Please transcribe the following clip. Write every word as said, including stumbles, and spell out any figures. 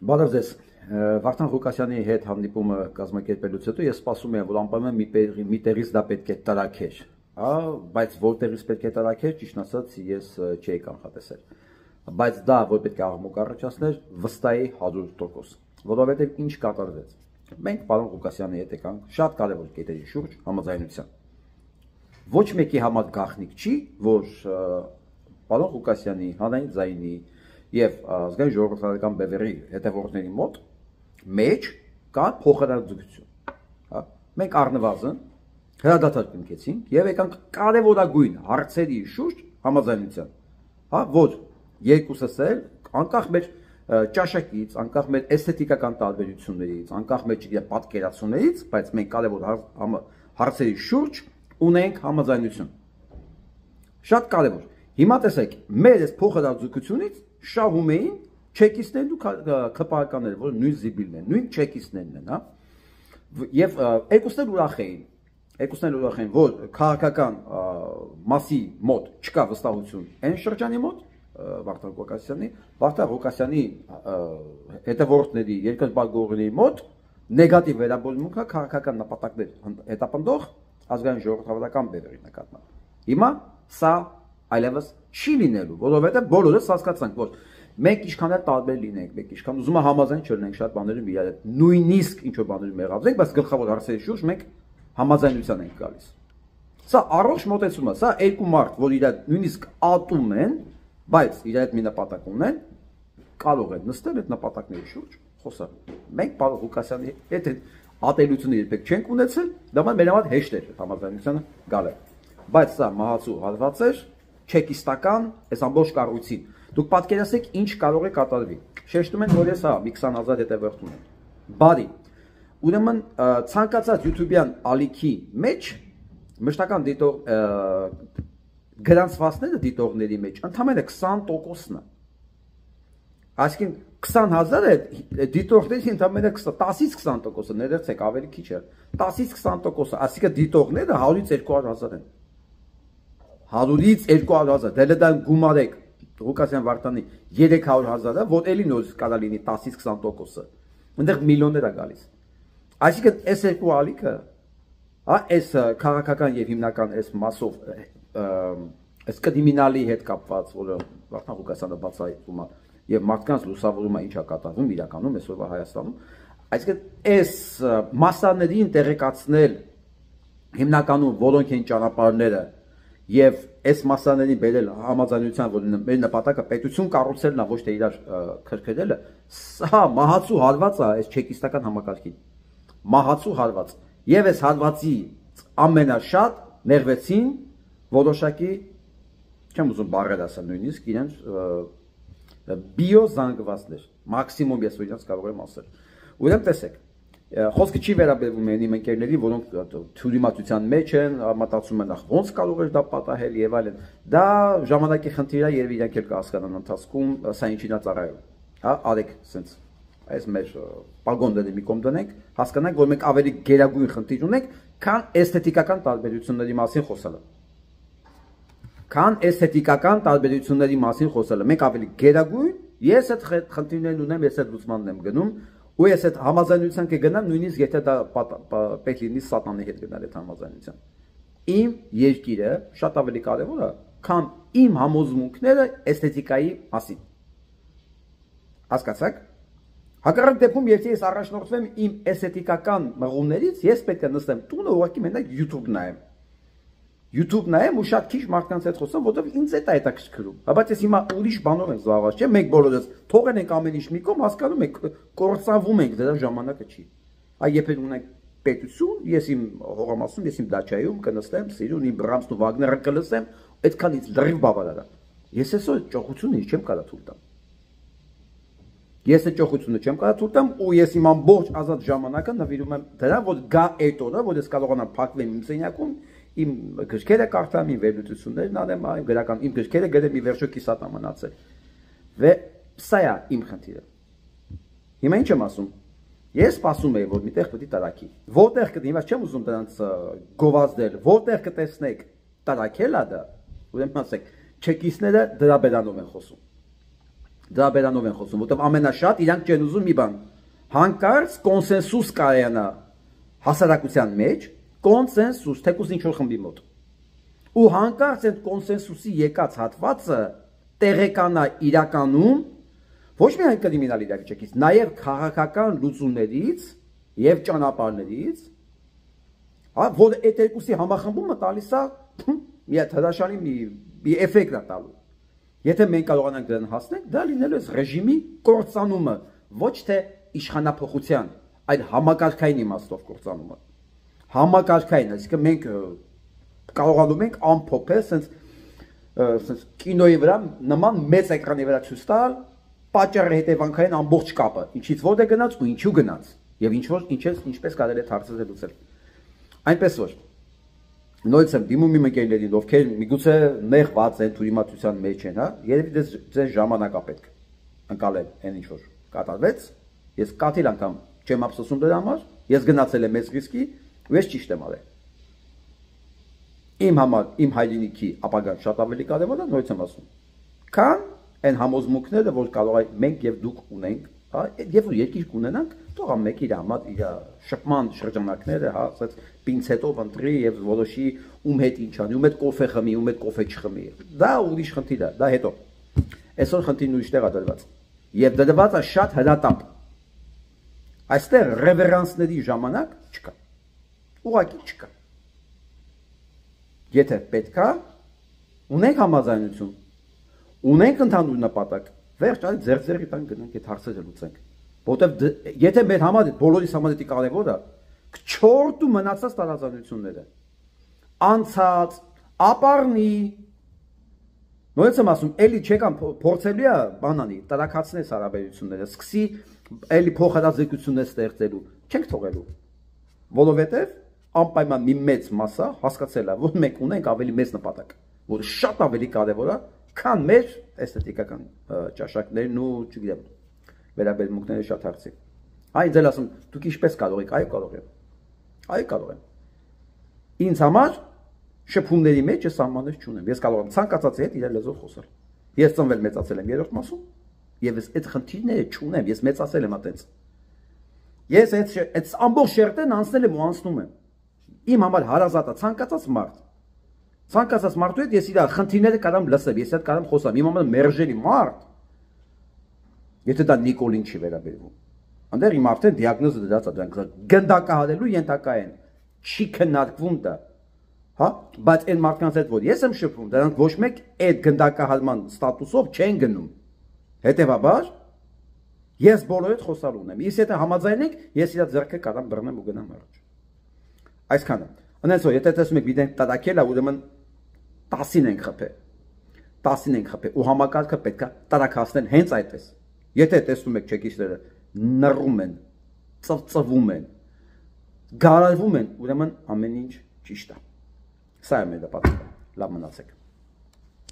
Բարև ձեզ, Վարդան Ղուկասյանի հետ հանդիպումը կազմակերպելուց հետո ես սպասում եմ, որ անպայման մի տեղից դա պետք է տրաքեր, բայց որտեղից պետք է տրաքեր, ճիշտ ասած ես չէի կանխատեսել, բայց դա որ պետք է աղմուկ առաջացներ, վստահ հարյուր տոկոս, որովհետև ինչ կատարվեց։ Մենք պարոն Ղուկասյանի հետ եկանք շատ կարևոր կետերի շուրջ համաձայնության։ Ոչ մեկի համար գաղտնիք չի, որ պարոն Ղուկասյանի, Հանրային ձայնի եւ ազգային ժողովրդական բևեռի հետևորդների մոտ մեջ կա փոխհրաձգություն, հա, մենք առնվազն հրադադար կնքեցինք եւ եկանք կարևորագույն հարցերի շուրջ համաձայնության, հա, որ երկուսս էլ անկախ մեր ճաշակից, անկախ մեր էսթետիկական տարբերություններից, անկախ մեր պատկերացումներից, բայց մենք կարևոր հարցերի շուրջ ունենք համաձայնություն։ Շատ կարևոր։ Հիմա տեսեք, մեր այս փոխհրաձգությունից շահում էին չեկիստներն ու քպականները, որ նույն զիբիլն են, նույն չեկիստներն են, հա։ Եվ երկուսն էլ ուրախ էին, երկուսն էլ ուրախ էին, որ քաղաքական մասի մոտ չկա վստահություն այն շրջանի մոտ, Վարդան Ղուկասյանի, Վարդան Ղուկասյանի հետևորդների, երկրպագորների մոտ նեգատիվ վերաբերմունքը քաղաքական նպատակներ հետապնդող ազգային ժողովրդական բևեռի նկատմամբ։ Հիմա սա այլևս չի լինելու, որովհետև բոլորս հասկացանք, որ մենք ինչքան էլ տարբեր լինենք, մենք ինչքան ուզում ենք համաձայն չլինենք շատ բաներում իրար հետ, նույնիսկ ինչ որ բաներում մեղադրենք, բայց գլխավոր հարցերի շուրջ մենք համաձայնության ենք գալիս։ Սա առողջ մոտեցում է, սա երկու մարդ, որ իրար նույնիսկ ատում են, բայց իրար հետ մի նպատակ ունեն, կարող են նստել այդ նպատակների շուրջ խոսալ։ Մենք պարոն Ղուկասյանի հետ ատելությունը երբեք չենք ունեցել, դա մեր համար հեշտ էր համաձայնությանը գալը։ Բայց սա մահացու հարված էր չեկիստական այս ամբողջ կառույցին։ Դուք պատկերացրեք ինչ կարող է կատարվի։ Շեշտում են, որ ես հա մի քսան հազար հետևորդ ունեմ։ Բարի։ Ուրեմն ցանկացած YouTube-յան ալիքի մեջ մշտական դիտող գրանցվածքները դիտողների մեջ ընդհանրապես քսան տոկոսն է։ Այսինքն քսան հազարը դիտողների ընդհանրապես տասից քսան տոկոսը ներեցեք ավելի քիչ է։ տասից քսան տոկոսը, այսինքն դիտողները հարյուրից երկու հարյուր հազար են։ հարյուրից երկու հարյուր հազար, դե դա գումարեք Ղուկասյան Վարդանի երեք հարյուր հազարը, որ էլի նոր կարա լինի տասից քսան տոկոսը։ Այնտեղ միլիոններ է գալիս։ Այսինքն այս երկու ալիքը, հա, այս քաղաքական եւ հիմնական այս մասով այս կրիմինալի հետ կապված, որը Վարդան Ղուկասյանը բացահայտում է եւ մարդկանց լուսավորում է ինչա կատարվում իրականում այսօրվա Հայաստանում, այսինքն այս մասաներին տեղեկացնել հիմնականում որոնք են ճանապարհները եւ այս մասաներին բերել համաձայնության, որ մեր նպատակը պետություն կառուցելն է, ոչ թե իրար քրքրելը, սա մահացու հարված է այս չեկիստական համակարգին։ Մահացու հարված։ Եվ այս հարվածի ամենաշատ ներվեցին որոշակի, չեմ ուզում բառեր ասել նույնիսկ, իրենց բիոզանգվածներ, մաքսիմում ես իրենց կարող եմ ասել։ Ուրեմն տեսեք, խոսքը չի վերաբերվում այն իմ ընկերների, որոնք թյուրիմացության մեջ են, մտածում են ոնց կարող է դա պատահել եւ այլն։ Դա ժամանակի խնդիր է եւ իրենք էլ կհասկանան ընթացքում սա ինչին է ծառայում։ Հա, արեք sense այս մեր պագոնդները մի կողմ դնենք, հասկանանք, որ մենք ավելի գերագույն խնդիր ունենք, քան էսթետիկական տարբերությունների մասին խոսալը։ Քան էսթետիկական տարբերությունների մասին խոսալը, մենք ավելի գերագույն, ես այդ խնդիրներն ունեմ, ես այդ լուծմանն եմ գնում, ու ես այդ համաձայնության կգնամ, նույնիսկ եթե դա պետք լինի սատանայի հետ գնալ այդ համաձայնության։ Իմ երկիրը շատ ավելի կարևոր է, քան իմ համոզմունքները էսթետիկայի մասին։ Հասկացաք։ Հակառակ դեպքում, եթե ես առաջնորդվեմ իմ էսթետիկական մղումներից, ես պետք է նստեմ տունը ուղղակի մենակ YouTube նայեմ։ YouTube նայեմ ու շատ քիչ մարդկանց հետ խոսեմ, որովհետև ինձ այդ է հետաքրքրում։ Բայց ես հիմա ուրիշ բանով եմ զբաղված, չէ՞, մենք բոլորս թողեն ենք ամեն ինչ մի կողմ, հասկանում ենք, կործանվում ենք, դրա ժամանակը չի։ Այ երբ ունենք պետություն, ես իմ հողամասում, ես իմ դաչայում կնստեմ, սիրուն իմ Բրամսն ու Վագները կլսեմ, այդքանից լրիվ բավարար է։ Ես այսօր ճոխությունը չեմ կարա թույլ տամ։ Ես այդ ճոխությունը չեմ կարա թույլ տամ ու ես իմ ամբողջ ազատ ժամանակը նվիրում եմ դրան, որ գա այդ օրը, որ ես կարողանամ փակվեմ իմ սենյակում, իմ գրքերը կարդամ, իմ վերլուծություններն անեմ, իմ գրական իմ գրքերը գրեմ, ի վերջո կիսատ մնացել։ Վե սա է իմ խնդիրը։ Հիմա ինչ եմ ասում։ Ես սպասում եի, որ միտեղ պետք է տարակի։ Որտեղ կդի, հիմա չեմ ուզում դրանց գովազդել, որտեղ կտեսնեք տարակելա դա, ուրեմն ասեք, չեկիստները դրա բերանով են խոսում։ Դրա բերանով են խոսում, որտեղ ամենաշատ իրանք չեն ուզում մի բան։ Հանկարծ կոնսենսուս կարողանա հասարակության մեջ, կոնսենսուս, թեկուզ ինչ-որ խմբի մոտ։ Ու հանկարծ այդ կոնսենսուսի եկած հատվածը տեղեկանա իրականում ոչ միայն կրիմինալ իրավիճակից, նաև քաղաքական լուծումներից եւ ճանապարհներից, հա, որ այդ երկուսի համախմբումը տալիս է մի հատ հրաշալի մի, մի էֆեկտ է տալու։ Եթե մենք կարողանանք դրան հասնել, դա լինելու է ռեժիմի կործանումը, ոչ թե իշխանափոխության, այլ համակարգային իմաստով կործանումը։ Համակարգային, այսինքն մենք կարողանում ենք ամփոփել, sense sense կինոյի վրա նման մեծ էկրանի վրա ցույց տալ պատճառը հետևանքային ամբողջ կապը, ինչից որտեղ գնաց ու ինչու գնաց, եւ ինչ որ ինչպես ինչպես կարելի է հարցը լուծել։ Այնպես որ նույնիսկ եմ դիմում իմ ընկերներին, ովքեր միգուցե նեղված են, թույլատվության մեջ են, հա, երևի դες ձեր ժամանակ է պետք ընկալել այն ինչ որ կատարվեց, ես կաթիլ անգամ չեմ ափսոսում դրա համար, ես գնացել եմ մեծ ռիսկի, ու ես ճիշտ եմ արել։ Իմ համար, իմ հայրենիքի ապագան շատ ավելի կարևոր է, նույնիսկ եմ ասում, քան այն համոզմունքները, որ կարող է մենք եւ դուք ունենք, հա, եւ որ երկիր կունենանք, թող ամեն իր համար իր շփման շրջանակները, հա, ասած պինցետով ընտրի եւ որոշի ում հետ ինչ անի, ում հետ կոֆե խմի, ում հետ կոֆե չխմի։ Դա ուրիշ խնդիր է, դա հետո։ Այսօր խնդիրն ուրիշ տեղ է դրված։ Եվ դրված է շատ հրատապ։ Այստեղ ռևերանսների ժամանակ չկա։ Ուղղակի չկա։ Եթե պետք է, ունենք համաձայնություն, ունենք ընդհանուր նպատակ, վերջ այլ ձեր-ձերի տան գնանք այդ հարցերը լուծենք։ Որտեվ եթե մեր համար բոլորիս համար դա կարևոր է, չորտ ու մնացած տարածությունները, անցած, ապառնի, նույնիսկ եմ ասում, էլի չեկան փորձելու է բանանի, տրակացնես հարաբերությունները, սկսի էլի փոխհատազեկություններ ստեղծելու, չենք թողելու, որովհետև անպայման մի մեծ մասը հասկացել է, որ մենք ունենք ավելի մեծ նպատակ, որ շատ ավելի կարևոր է, քան մեր էսթետիկական ճաշակներն ու, չգիտեմ, վերաբերմունքները շատ հարցի։ Այ ձեր ասում, դուք ինչպես կարող եք, այո կարող եմ, այո կարող եմ։ Ինձ համար շփումների մեջ ես սահմաններ չունեմ, ես կարող եմ ցանկացածի հետ իրար լեզվով խոսալ։ Ես ծնվել մեծացել եմ երրորդ մասում, եւ ես այդ խնդիրները չունեմ, ես մեծացել եմ այդպես։ Ես այդ այդ ամբողջ շերտեն անցնել եմ ու անցնում եմ։ Իմ համար հարազատ է ցանկացած մարդ։ Ցանկացած մարդու հետ ես իր խնդիրները կարամ լսեմ, ես հետ կարամ խոսամ, իմ համար մերժելի մարդ։ Եթե դա Նիկոլին չի վերաբերվում։ Անդեր իմ արդեն դիագնոզը դրած է, դրանք գնդակահարելու ենթակա են։ Չի քննարկվում դա։ Հա, բայց այն մարդկանց հետ որ ես եմ շփվում, դրանք ոչ մեկ այդ գնդակահարման ստատուսով չեն գնում։ Հետևաբար ես բոլորի հետ խոսալ ունեմ։ Իսկ եթե համաձայնենք, ես իր ձեռքը կարամ բռնեմ ու գնամ առաջ։ Այսքանը։ Անենց որ եթե տեսնում եք վիդեոն տակել է, ուրեմն տասին ենք խփել։ տասին ենք խփել ու համակարգը պետքա տարակացնել հենց այդպես։ Եթե տեսնում եք չեկիստերը նռում են, ծվծվում են, գարարվում են, ուրեմն ամեն ինչ ճիշտ է։ Սա է մեր նպատակը։ Լավ մնացեք։